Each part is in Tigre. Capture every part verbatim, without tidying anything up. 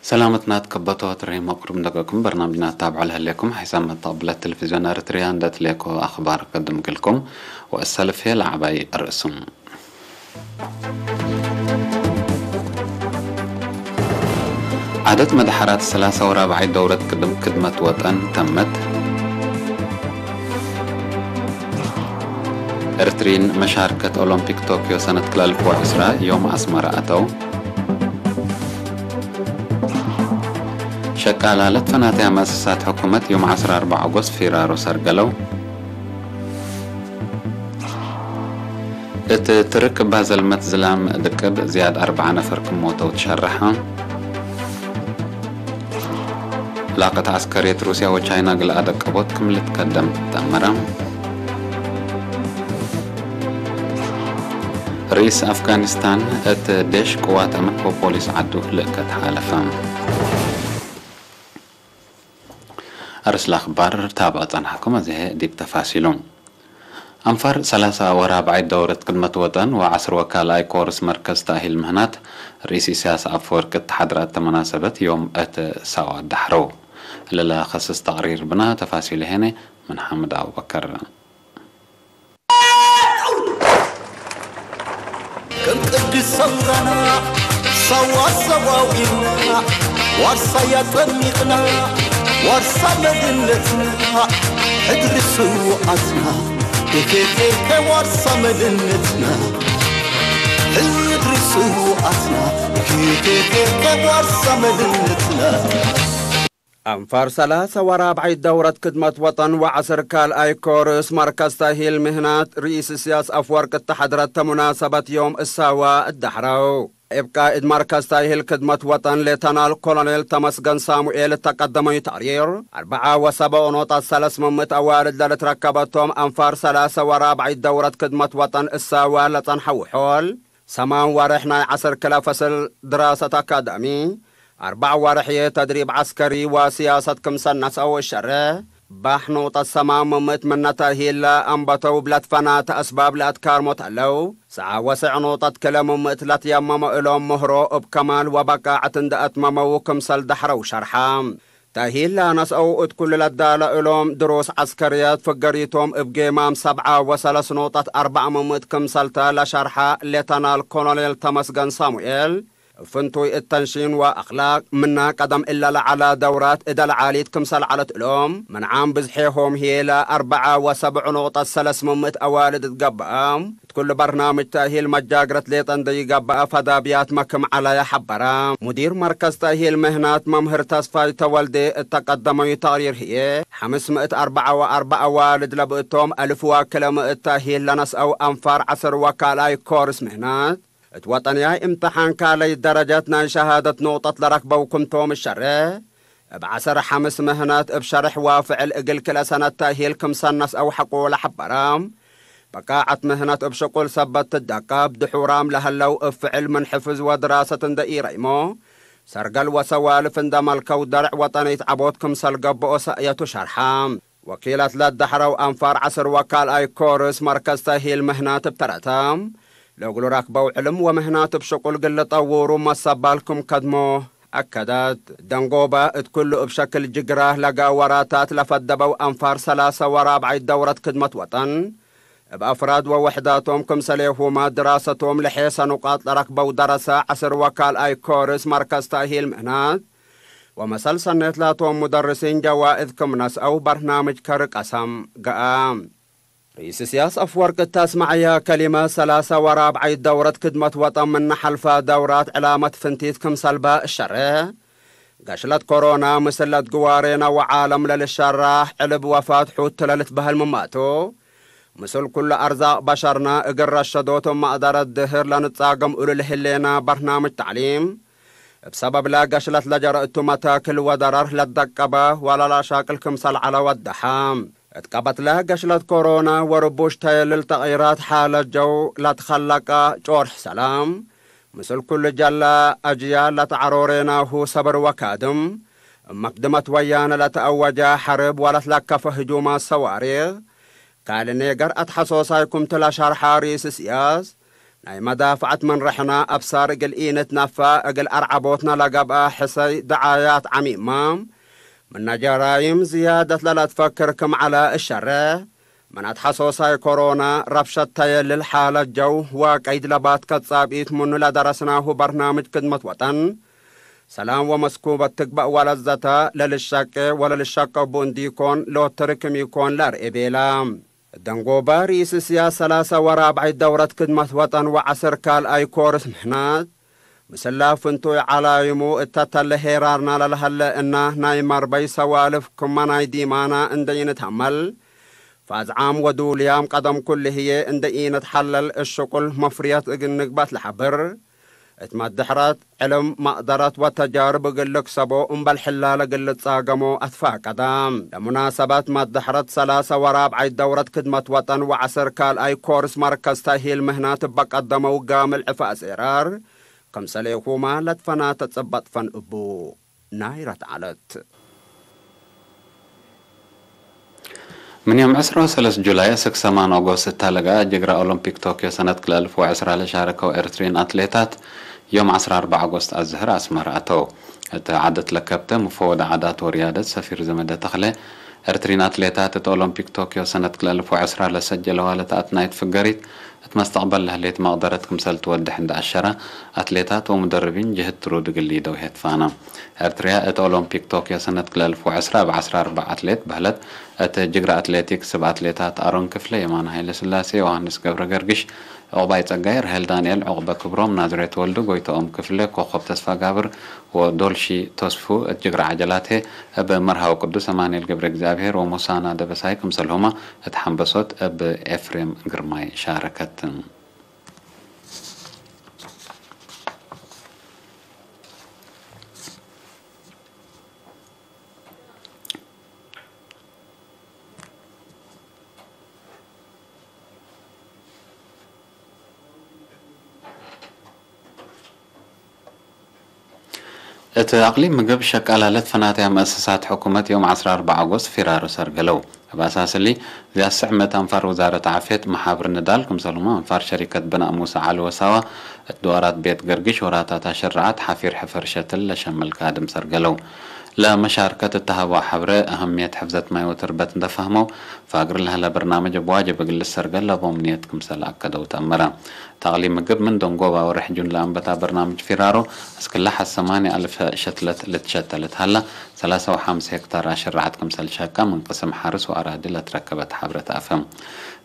ሰላመትና ትከበቶ ትርሂም ወቅሩብ እንደገኩም በርናምጅና ታብዖ ለህሌኩም ሐይሳም መተቅብለት ቴሌቪዝዮን ኤረትርያ እንደ ትሌኮ አኽባር ከድም ግልኩም ወእሰልፍ ለዐባይ ርእሱም። ዓደት መድሐራት ሰላሳ ወራብዓይ ደውረት ክድም ክድመት ወጠን ተመት። ኤርትሪን መሻርከት ኦሎምፒክ ቶክዮ ሰነት ክላልፍ ወዕስራ ዮም አስመረ አተው። ሸቃላ ለትፈናተያ መአሰሳት ሕኩመት ዮም ዐስራ አርበዕ ኦጎስት ፊራሮ ሰርገለው። እት ትርክ እባ ዘልመት ዝላም ድቅብ ዝያድ አርበዓ ነፈር ክም ሞተው ትሸረሐ። ዕላቀት ዐስከርየት ሩስያ ወቻይና እግል አደቀቦት ክም ልትከደም ተአመረ። ርኢስ አፍጋኒስታን እት ዴሽ ቅዋት አመት ወፖሊስ ዐዱ ልእከት ሓለፈ። አርእስ ለአኽባር ታብዐ ጸንሐኩም፣ አዜ ዲብ ተፋሲሉ። አንፋር ሰላሳ ወራብዓይት ደውረት ክድመት ወጠን ወዐስር ወካልኣይ ኮርስ መርከዝ ተእሂል ምህናት ርኢስ ኢሳያስ አፈወርቂ እት ተሐድረ እተ መናሰበት ዮም እት ሳዋ ዳሕረው። እለ ለከስስ ተቅሪር ብነ፣ ተፋሲሉ ሄነ ምን ሓምድ አቡበከር። ከም ቅድስ ሰውራና ሳዋ ሰዋዊና ዋርሳ ያጠሚቅና ዋርሳ መድነትና ሕድሪ ስውኣትና ቴቴቴቴ ዋርሳ መድነትና ሕድሪ ስውኣትና ቴቴቴቴ ዋርሳ መድነትና። አንፋር ሰላሰ ወራብዓይት ደውረት ክድመት ወጠን ወዐስር ካልኣይ ኮርስ መርከዝ ተእሂል ምህናት ርኢስ እስያስ አፍወርቅ እተ ሐድረት ተሙናሰበት ዮም እሳዋ እዳሕረው። እብ ቃእድ መርከዝ ተእሂል ክድመት ወጠን ሌተናል ኮሎኔል ተመስገን ሳሙኤል እተ ቀደመዩ ተቅሪር፣ አርበዓ ወሰብዑ ኖጣት ሰለስ ምምእት አዋልድ ለልትረከበቶም አንፋር ሰላሰ ወራብዓይት ደውረት ክድመት ወጠን እሳዋ ለጸንሐ ውሖል፣ ሰማን ወሬሕ ናይ ዐስር ክለ ፈስል ድራሰት አካዳሚ፣ አርበዕ ወሬሕ ተድሪብ ዐስከሪ ወሲያሰት ክምሰል ነስአው እሸሬ፣ ባሕ ኖጠት ሰማን ምምእት ምነ ተእሂል ለአንበተው እብ ለትፈናተ አስባብ ለአትካርሞ ተለው፣ ሰዓ ወሰዕ ኖጠት ክለ ምምእት ለትየመመ እሎም ምህሮ እብ ከማል ወበቃዐት እንደ አትመመው ክምሰል ደሕረው ሸርሐ። ተእሂል ለነስአው እት ኩሉ ለዳለ እሎም ድሩስ ዐስከርየት ፍገሪቶም እብ ጌማም ሰብዓ ወሰለስ ኖጠት አርበዕ ምምእት ክምሰልተ ለሸርሐ ሌተናል ኮሎኔል ተመስገን ሳሙኤል፣ እብ ፍንቱይ እት ተንሺን ወአክላቅ ምነ ቀደም እለ ለዐለ ደውራት እደ ለዓሊት ክምሰል ዐለት እሎም፣ ምን ዓም ብዝሔሆም ህዬ ለአርበዓ ወሰብዑ ኖጠት ሰለስ ምምእት አዋልድ እት ገብአ፣ እት ኩሉ በርናምጅ ተእሂል መጃግረት ሌጠ እንዴ ይገብአ ፈዳብያትመ ክም ዐለየ ሐበረ። ሙዲር መርከዝ ተእሂል ምህናት መምህር ተስፋይ ተወልዴ እተ ቀደመዩ ተቅሪር ህዬ፣ ሐምስ ምእት አርበዓ ወአርበዕ አዋልድ ለብእቶም አልፍ ወክለ ምእት ተእሂል ለነስአው አንፋር ዐስር ወካልኣይ ኮርስ ምህናት፣ እት ወጠንያይ እምተሓን ካልኣይ ደረጀት ናይ ሸሃደት ኖጠት ለረክበው ክምቶም እሸሬ፣ እብ ዐሰር ሐምስ ምህነት እብ ሸርሕ ወፍዕል እግል ክልኤ ሰነት ተእሂል ክምሰል ነስአው ሐቆ ለሐበረ፣ በቃዐት ምህነት እብ ሽቁል ሰበት ትደቀብ፣ ድሑራም ለህለው እብ ፍዕል ምን ሕፍዝ ወድራሰት እንደ ኢረይሞ፣ ሰርገል ወሰዋልፍ እንደ መልከው ደርዕ ወጠኒት ዐቦት ክምሰል ገብኦ ሰእየቱ ሸርሐ። ወኪለት ለደሐረው አንፋር ዐስር ወካልኣይ ኮርስ መርከዝ ተእሂል ምህነት እብ ተረተ፣ ለእግሉ ረክበው ዕልም ወምህናት እብ ሽቁል ግል ጠውሩ መሰባል ክም ከድሞ አከደት። ደንጎበ እት ኩሉ እብ ሸክል ጅግራ ለጋወራታት ለፈደበው አንፋር ሰላሰ ወራብዓይ ደውረት ክድመት ወጠን፣ እብ አፍራድ ወወሕዳቶም ክምሰሌሁመ ድራሰቶም ለሔሰ ኑቃጥ ለረክበው ደረሰ ዐስር ወካልኣይ ኮርስ መርከዝ ተእሂል ምህናት፣ ወመሰል ሰኔት ላቶም ሙደርሲን ጀዋእዝ ክም ነስአው በርናምጅ ከሪ ቀሰም ገአ። ርኢስ እስያስ አፍወርቅ እተ አስመዐየ ከሊመ፣ ሰላሰ ወራብዓይት ደውረት ክድመት ወጠን ምነ ሐልፈ ደውራት ዕላመት ፍንቲት ክምሰልበ እሸሬ፣ ገሽለት ኮሮና ምስል ለትግዋሬነ ወዓለም ለልሸራህ ዕልብ ወፋት ሑት ለልትበህል ምማቱ፣ ምስል ኩሉ አርዛቅ በሸርነ እግል ረሸዶት እብ መቅደረት ድህር ለንጻገም እሉ ለህሌነ በርናምጅ ተዕሊም፣ እብ ሰበብለ ገሽለት ለጀረ እቱ መታክል ወደረር ለትደቀበ ወለለአሻቅል ክምሰል ዐለ ወደሐ። እት ቀበትለ ገሽለት ኮሮና ወርቡሽ ተየልል ተቅይራት ሓለት ጀው ለትከለቀ ጮርሕ ሰላም፣ ምስል ኩሉ ጀለ አጅያል ለተዐሮሬናሁ ሰብር ወካድም፣ እብ መክድመት ወያነ ለተአወጀ ሐርብ ወለትለከፈ ህጁማት ሰዋሪክ፣ ካልእ ኔገር አትሐሶሳይ ክምቱ ለሸርሐ ርኢስ እስያስ፣ ናይ መዳፍዐት ምን ርሕነ አብሳር እግል ኢንትነፈዕ እግል አርዐቦትነ ለገብአ ሕሰይ ደዓያት ዐሚመ፣ ምነ ጀራይም ዝያደት ለለትፈክር ክም ዐለ እሸሬሕ፣ ምን አትሐሶሳይ ኮሮና ረብሸት ተየልል ሓለት ጀው ወቀይድ ለባትከ ጻብኢት ምኑ ለደረስናሁ በርናምጅ ክድመት ወጠን፣ ሰላም ወመስኩበት ትግበእ ወለዘተ ለልሸቄ ወለልሸቀቡ እንዲኮን ሎትርክም ኢኮን ለአርኤ ቤለ። ደንጎበ ርኢስ እስያስ ሰላሰ ወራብዓይ ደውረት ክድመት ወጠን ወዐስር ካልኣይ ኮርስ ምህናት፣ ምስላ ፍንቱይ ዐላይሙ እተ ተለ ሄራርና ለለሀለ እና ናይ መርበይ ሰዋልፍ ክመ ናይ ዲማና እንደ ኢንትአመል፣ ፋዝዓም ወዱልያም ቀደም ኩሉ ህዬ እንደ ኢንትሐለል እሽቁል መፍርየት እግል ንግበት ለሐብር፣ እት መድሕረት ዕልም፣ መቅደረት ወተጃርብ እግል ልክሰቦ እምበል ሕላለ እግል ልጻገሞ አትፋቀደ። ለሙናሰበት መድሕረት ሰላሰ ወራብዓይ ደውረት ክድመት ወጠን ወዐስር ካልኣይ ኮርስ መርከዝ ተእሂል ምህናት እበ ቀደመው ጋምል ዕፈ አሴራር፣ ክምሰሌሁመ ለትፈናተ ጽበጥ ፈን እቡ ናይረት ዐለት። ምን ዮም ዕስራ ወሰለስ ጁላይ አስክ ሰማን ኦጎስት እተ ለገአ ጅግረ ኦሎምፒክ ቶክዮ ሰነት ክልኤ አልፍ ወዕስራ ለሻረከው ኤርትርይን አትሌታት፣ ዮም ዐስራ አርበዕ ኦጎስት አዝህር አስመረ አተው። እት ዐደት ለከብተ፣ ሙፈወድ ዓዳት ወርያደት ሰፊር ዘመደ ተክለ፣ ኤርትርይን አትሌታት እት ኦሎምፒክ ቶክዮ ሰነት ክልኤ አልፍ ወዕስራ ለሰጀለዋ ለተአትናይት ፍገሪት፣ እት መስተቅበል ለህሌት መቅደረት ክምሰል ትወድሕ እንደ አሸረ፣ አትሌታት ወሙደርቢን ጅህት ትሩድ እግል ሊደው ሄትፋነ። ኤርትርያ እት ኦሎምፒክ ቶክዮ ሰነት ክልኤ አልፍ ወዕስራ እብ ዐስራ አርበዕ አትሌት በህለት። እት ጅግረ አትሌቲክስ እብ አትሌታት አሮን ክፍለ፣ የማነ ሀይለስላሴ፣ ዮሃንስ ገብረ ገርግሽ፣ ዑቅባይ ጸጋይ፣ ርሄል ዳንኤል፣ ዑቅበ ክብሮም፣ ናዝሬት ወልዱ፣ ጎይተኦም ክፍለ፣ ኮኮብ ተስፋጋብር፣ ወዶልሺ ቶስፉ እት ጅግረ ዐጀላት ህዬ፣ እብ መርሃዊ ቅዱስ አማኑኤል ገብረ እግዚኣብሔር ወሙሳና ደበሳይ ክምሰልሁመ እት ሐምበሶት እብ ኤፍሬም ግርማይ ሻረከት። እት አቅሊም ምግብ ሸቃላ ለትፈናተያ መአሰሳት ሕኩመት ዮም ዐስራ አርበዕ አጎስት ፊራሩ ሰርገለው። እብ አሳስ እሊ፣ ዝያድ ስዕ ምእት አንፋር ውዛረት ዓፍየት መሓብር ንዳል ክምሰልሁመ አንፋር ሸሪከት ብናእ ሙሰ ዐሊ ወሳዋ እት ድዋራት ቤት ገርግሽ ወራታት አሸረዓት ሓፊር ሕፈር ሸትል ለሸምል ካድም ሰርገለው። ለመሻርከት እተሀበው ሐብረ አህምየት ሕፍዘት ማይ ወትርበት እንደ ፈህመው፣ ፋግር ለህለ በርናምጅ እብ ዋጅብ እግል ልሰርገል ለቦም ንየት ክምሰል አከደው ተአመረ። ተቅሊም ምግብ ምን ደንጎባ ወርሕ ጁን ለአንበታ በርናምጅ ፊራሮ፣ እስክለ ሐ ሰማንያ አልፍ ሸትለት ልትሸተለት ሀላ፣ ሰላሳ ወሐምስ ሄክታር አሸረዐት ክምሰል ሸቀ ምን ቅስም ሐርስ ወአራዲ ለትረከበት ሐብረ ተአፍህም።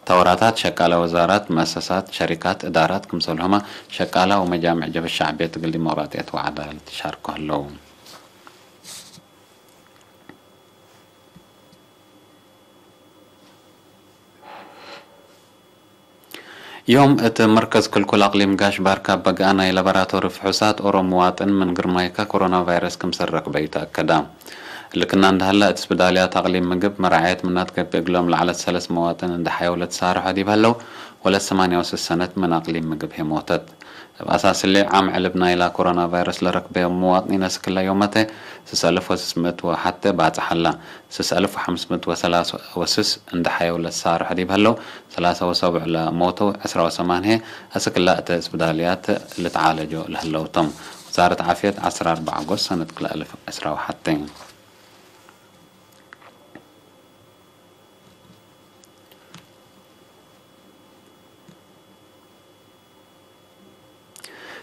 ተወራታት ሸቃለ ወዛራት፣ መአሰሳት፣ ሸሪካት፣ እዳራት ክምሰልሁመ ሸቃላ ወመጃምዕ ጀብህት ሸዕብየት እግል ዲሞቅራጥየት ወዐዳለት ሻርኮ ህለው። ዮም እት መርከዝ ክልኩል አቅሊም ጋሽ ባርካ በግአ ናይ ላቦራቶሪ ፍሑሳት ኦሮ ሙዋጥን ምን ግርማይከ ኮሮና ቫይረስ ክምሰል ረክበዩ ተአከዳ። እሊ ክና እንደ ሀለ፣ እት ስብዳልያት አቅሊም ምግብ መራዐየት ምናት ገብእ እግሎም ለዐለት ሰለስ መዋጥን እንደ ሐየው ለትሳርሖ ዲብ ሀለው፣ ወለት ሰማንያ ወስስ ሰነት ምን አቅሊም ምግብ ህዬ ሞተት። እብ አሳስ እሊ፣ ዓም ዕልብ ናይላ ኮሮና ቫይረስ ለረክበዮም ሙዋጥኒን አስክለ ዮመተ፣ ስስ አልፍ ወስስ ምእት ወሐቴ ባጽሕ ሀላ። ስስ አልፍ ወሐምስ ምእት ወሰላስ ወስስ እንደ ሐየው ለትሳርሖ ዲብ ሀለው፣ ሰላሳ ወሰቡዕ ለሞተው፣ ዕስራ ወሰማን ህዬ አስክለ እተ ስብዳልያት ልትዓለጆ ለህለው ቶም። ውዛረት ዓፍየት፣ ዐስራ አርበዕ አጎስት ሰነት ክልኤ አልፍ ዕስራ ወሐቴ።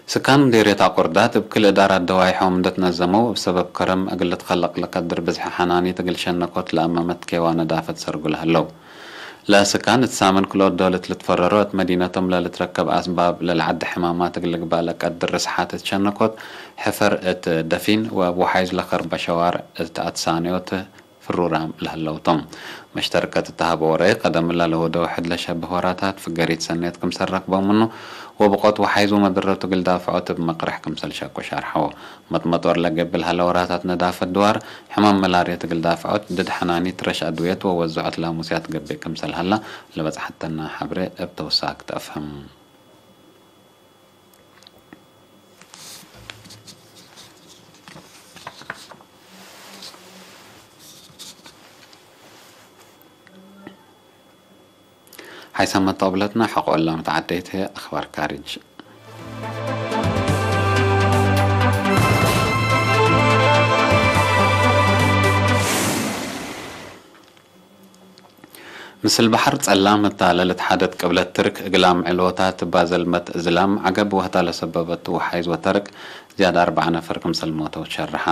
ስካን ምዴርየት አቆርዳት እብ ክል እዳራት ደዋይሖም እንደ ትነዘመው፣ እብ ሰበብ ከረም እግል ልትከለቅ ለቀድር ብዝሒ ሐናኒት እግል ሸነኮት ለአመመት ኬዋ ነዳፈት ሰርጉ ለህለው። ለስካን እት ሳምን ክልኦት ዶለት ልትፈረሮ፣ እት መዲነቶም ለልትረከብ አስባብ ለልዐዲ ሕማማት እግል ልግባእ ለቀድር ርስሓት እት ሸነኮት፣ ሕፈር እት ደፊን ወእብ ወሓይዝ ለከርበ ሸዋርዕ እት አትሳንዮት ፍሩራም ለህለው ቶም። መሽተርከት እተ ሀበ ወረይ፣ ቀደምላ ለወደው ሕድ ለሸብህ ወራታት ፍገሪት ሰኔት ክምሰል ረክበው ምኑ፣ ወብቆት ወሓይዝ ወመድረቱ እግል ዳፍዖት እብ መቅርሕ ክምሰል ሸቁ ሸርሐው። መጥመጦር ለገብእ ለሀለ ወራታት ነዳፈት ድዋር፣ ሕማም መላርየት እግል ዳፍዖት፣ ድድ ሐናኒት ረሽ አድውየት ወወዝዖት ላሙስያት ገብእ ክምሰል ሀላ፣ ለበጽሐተና ሐብሬ እብ ተውሳክ ተአፍህም። ሐይሳም መጣብለትና ሐቆ እላ መትዓደይት ህዬ አኽባር ካርጅ። ምስል በሐር ጸላም እታ ለልትሓደት ቅብለት ትርክ እግላም ዕልወታት እባ ዘልመት እዝላም ዐገብ ወህታ ለሰበበት ወሓይዝ ወተርቅ ዝያድ አርበዕ ነፈር ክምሰል ሞተው ሸርሐ።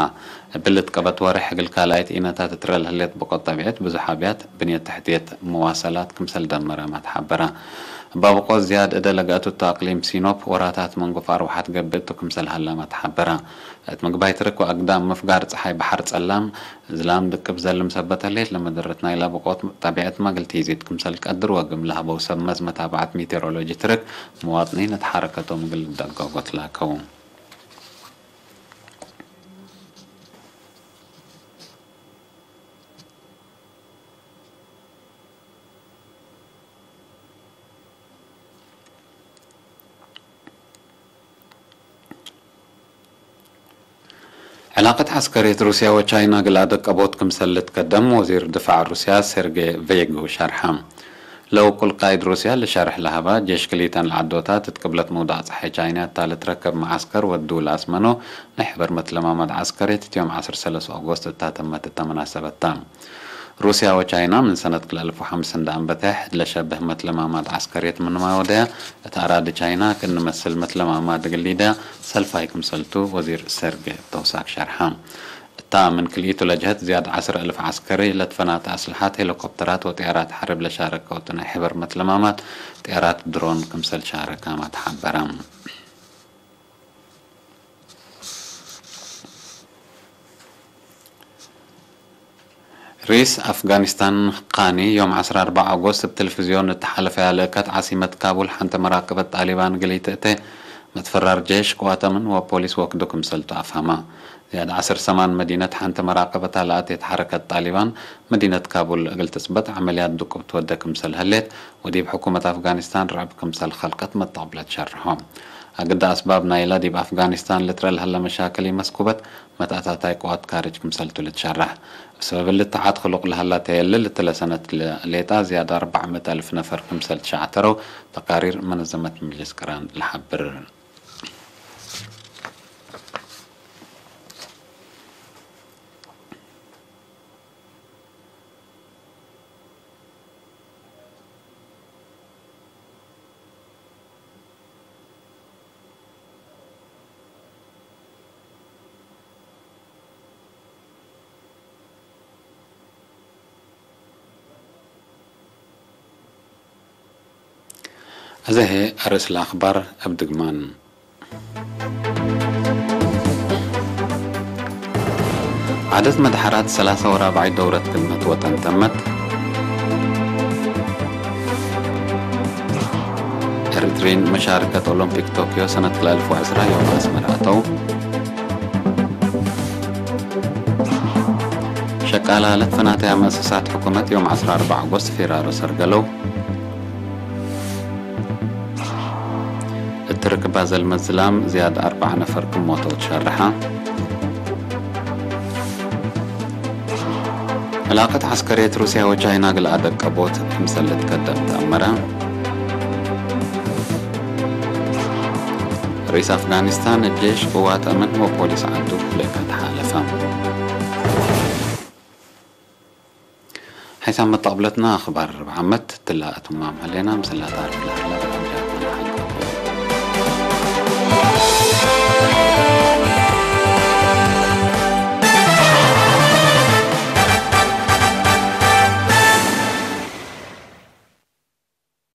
እብ ልትቀበት ወሬሕ እግል ካልኣይት ኢነታት ትረ ለህሌት ብቆት ጠቢዐት ብዙሕ አብያት ብንየት ተሕትየት መዋሰላት ክምሰል ደመረመ ተሐበረ። እባ ብቆት ዝያድ እደ ለገአቱ እቱ አቅሊም ሲኖፕ ወራታት መንጎፍ አርወሐት ገብእ እቱ ክምሰል ሀለመ ተሐበረ። እት ምግባይ ትርክ ወአግዳም ምፍጋር ጸሓይ በሐር ጸላም እዝላም ድቅብ ዘልም ሰበት ህሌት ለመደረት ናይላ ብቆት ጠቢዐትመ እግል ቲዚድ ክምሰል ቀድር ወግም ለሀበው ሰብ መዝ መታብዐት ሜቴሮሎጂ ትርክ፣ መዋጥኒን እት ሐረከቶም እግል ልደገጎ ትላከው። ዕላቀት ዐስከርየት ሩስያ ወቻይና እግል አደቀቦት ክምሰል ልትከደም ወዚር ድፋዕ ሩስያ ሴርጌ ቬግ ሸርሐ። ለውቁል ቃይድ ሩስያ ለሸርሕ ለሀባ፣ ጄሽ ክሊተን ለዐዶታት እት ቅብለት ምውዳቅ ጸሓይ ቻይና እታ ልትረከብ መዓስከር ወዱ ለአስመኖ ናይ ሕበር መትለማማድ ዐስከርየት እት ዮም ዐስር ሰለስ ኦጎስት እታ ተመት እተ መናሰበት ተ። ሩስያ ወቻይና ምን ሰነት ክልኤ አልፍ ወሐምስ እንደ አንበተ ሕድ ለሸብህ መትለማማድ ዐስከርየት ምንመ ወደያ፣ እት አራዲ ቻይና ክእኒ መስል መትለማማድ እግል ሊደያ ሰልፋይ ክምሰልቱ ወዚር ሴርጌ ቶሳክ ሸርሐ። እታ ምን ክልኢቱ ለጀሀት ዝያድ ዐስር አልፍ ዐስከሪ ለትፈናተ አስልሐት፣ ሄሊኮፕተራት ወጥያራት ሐርብ ለሻረከው እቱ ናይ ሕበር መትለማማድ ጥያራት ድሮን ክምሰል ሻረካመ ተሐበረ። ርኢስ አፍጋኒስታን ቃኒ፣ ዮም ዐስራ አርበዕ ኦጎስት እብ ቴሌፍዝዮን እት ሐለፈያ ለእከት፣ ዓሲመት ካቡል ሐንተ መራቅበት ጣሊባን እግል ኢትእቴ፣ መትፈራር ጄሽ፣ ቅዋት አምን ወፖሊስ ወክዱ ክምሰልቱ አፍሀመ። ዝያድ ዐስር ሰማን መዲነት ሐንተ መራቅበታ ለአቴት ሐረከት ጣሊባን፣ መዲነት ካቡል እግል ትጽበጥ ዐመልያት ድቁብ ትወደ ክምሰል ህሌት፣ ወዲብ ሕኩመት አፍጋኒስታን ርዕብ ክምሰል ከልቀት መጣብለት ሸርሖ። አግደ አስባብ ናይላ ዲብ አፍጋኒስታን ልትረ ለሀለ መሻክል ኢመስኩበት፣ መትአታታይ ቅዋት ካርጅ ክምሰልቱ ልትሸረሕ። እብ ሰበብ እሊ ተዓት ክሉቅ ለሀላ ተየልል እትለ ሰነት ሌጣ ዝያድ አርበዕ ምእት አልፍ ነፈር ክምሰል ትሸዐተረው ተቃሪር መነዘመት ምጅልስ ቅራን ለሐብር። አዜ ህዬ አርእስ ለአክባር እብ ድግማን። ዐደት መድሐራት ሰላሳ ወራብዓይ ደውረት ክድመት ወጠን ተመት። ኤሪትሪን መሻርከት ኦሎምፒክ ቶክዮ ሰነት ክልኤ አልፍ ወዐስራ ዮም አስመረ አተው። ሸቃላ ለትፈናተያ መአሰሳት ሕኩመት ዮም ዐስራ አርበዕ ኦጎስት ፊራሮ ሰርገለው። እት ርክባ ዘልመት ዝላም ዝያድ አርበዕ ነፈር ክም ሞተው ትሸርሐ። ዕላቀት ዐስከርየት ሩስያ ወቻይና እግል አደቀቦት ክምሰል ልትከደም ተአመረ። ርኢስ አፍጋኒስታን፣ ጄሽ፣ ቅዋት አምን ወፖሊስ ዐዱ ለእከት ሓለፈ። ሐይሳም መጣብለትና አኽባር ርብዕ ዓመት ትላ እትማም ህሌና ምስላ ታሪክ ለሀላ